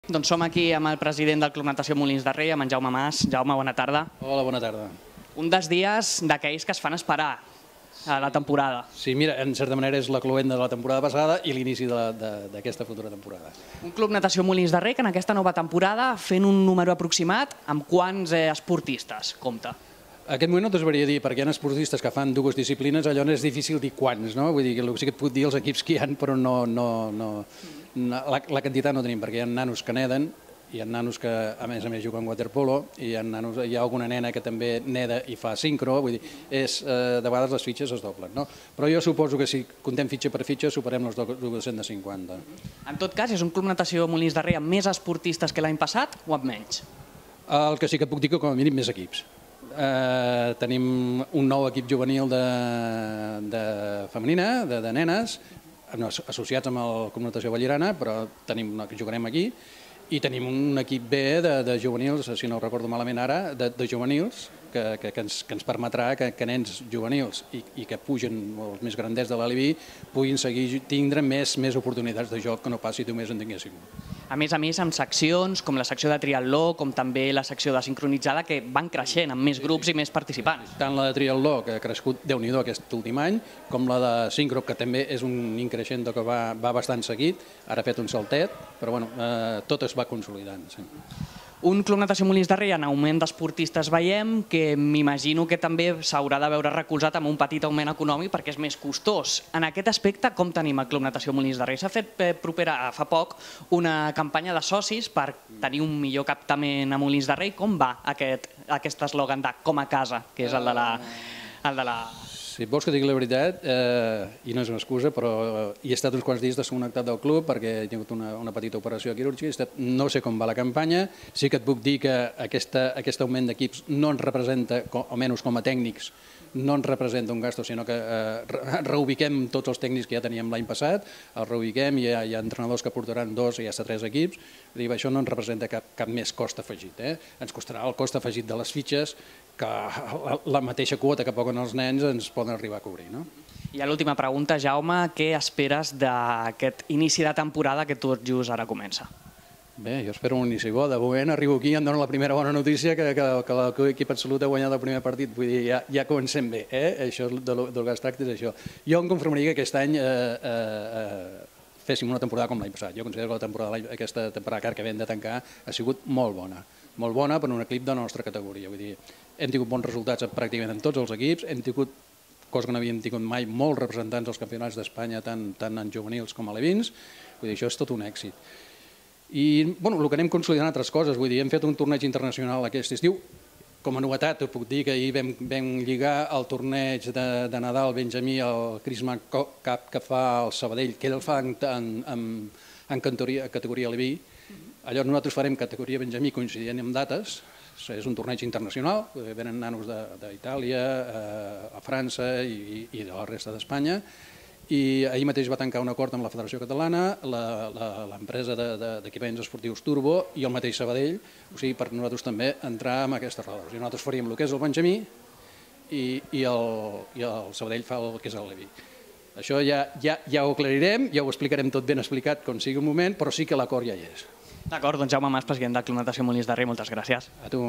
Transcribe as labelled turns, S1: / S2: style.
S1: Doncs som aquí amb el president del Club Natació Molins de Rei, amb en Jaume Mas. Jaume, bona tarda.
S2: Hola, bona tarda.
S1: Un dels dies d'aquells que es fan esperar a la temporada.
S2: Sí, mira, en certa manera és la cloent de la temporada passada i l'inici d'aquesta futura temporada.
S1: Un Club Natació Molins de Rei que en aquesta nova temporada, fent un número aproximat, amb quants esportistes compta?
S2: En aquest moment no t'ho sabria dir, perquè hi ha esportistes que fan dues disciplines, allò és difícil dir quants, no? Vull dir que sí que et puc dir els equips que hi ha, però la quantitat no tenim, perquè hi ha nanos que neden, hi ha nanos que a més juguen waterpolo, hi ha alguna nena que també neda i fa sincro, vull dir, de vegades les fitxes es doblen, no? Però jo suposo que si comptem fitxa per fitxa superem els 250.
S1: En tot cas, és un Club Natació Molins de Rei amb més esportistes que l'any passat o amb menys?
S2: El que sí que puc dir que com a mínim més equips. Tenim un nou equip juvenil de femenina, de nenes, associats amb el Club Natació Vallirana, però jugarem aquí, i tenim un equip B de juvenils, si no ho recordo malament ara, de juvenils, que ens permetrà que nens juvenils i que pugen els més grandets de l'Alibi puguin seguir tindre més oportunitats de joc que no passi només en tinguéssim.
S1: A més, amb seccions com la secció de triatló, com també la secció de sincronitzada, que van creixent amb més grups i més participants.
S2: Tant la de triatló, que ha crescut Déu-n'hi-do aquest últim any, com la de sincro, que també és un increixent que va bastant seguit, ara ha fet un saltet, però bueno, tot es va consolidant. Sí.
S1: Un Club Natació Molins de Rei en augment d'esportistes veiem que m'imagino que també s'haurà de veure recolzat amb un petit augment econòmic perquè és més costós. En aquest aspecte, com tenim el Club Natació Molins de Rei? S'ha fet fa poc una campanya de socis per tenir un millor captament a Molins de Rei. Com va aquest eslògan de com a casa, que és el de la...
S2: Si vols que digui la veritat, i no és una excusa, però he estat uns quants dies desconnectat del club perquè he tingut una petita operació quirúrgica, no sé com va la campanya, sí que et puc dir que aquest augment d'equips no ens representa, almenys com a tècnics, no ens representa un gasto, sinó que reubiquem tots els tècnics que ja teníem l'any passat, els reubiquem, hi ha entrenadors que portaran 2 i ja està 3 equips, això no ens representa cap més cost afegit. Ens costarà el cost afegit de les fitxes que la mateixa quota que paguen els nens ens poden arribar a cobrir.
S1: I l'última pregunta, Jaume, què esperes d'aquest inici de temporada que tot just ara comença?
S2: Bé, jo espero un inici bo. De moment arribo aquí i em dono la primera bona notícia que l'equip Absolut ha guanyat el primer partit. Vull dir, ja comencem bé. Això del que es tracta és això. Jo em conformaria que aquest any féssim una temporada com l'any passat. Jo considero que aquesta temporada que acabem de tancar ha sigut molt bona. Molt bona per un equip de la nostra categoria. Vull dir, hem tingut bons resultats pràcticament en tots els equips, hem tingut, cosa que no havíem tingut mai, molts representants dels campionats d'Espanya, tant en juvenils com a alevins. Vull dir, això és tot un èxit. I el que anem consolidant altres coses, vull dir, hem fet un torneig internacional aquest estiu. Com a novetat, puc dir que ahir vam lligar el torneig de Nadal Benjamí, el Crisma Cup que fa el Sabadell, que ell el fa en categoria Aleví. Llavors nosaltres farem categoria Benjamí coincidint amb dates, és un torneig internacional, venen nanos d'Itàlia, a França i de la resta d'Espanya, i ahir mateix va tancar un acord amb la Federació Catalana, l'empresa d'equipaments esportius Turbo i el mateix Sabadell, o sigui, per nosaltres també entrar en aquestes rodes. Nosaltres faríem el que és el Benjamí i el Sabadell fa el que és el Leví. Això ja ho aclarirem, ja ho explicarem tot ben explicat com sigui el moment, però sí que l'acord ja hi és.
S1: D'acord, doncs Jaume Mas, president del Club Natació Molins de Rei, moltes gràcies.
S2: A tu.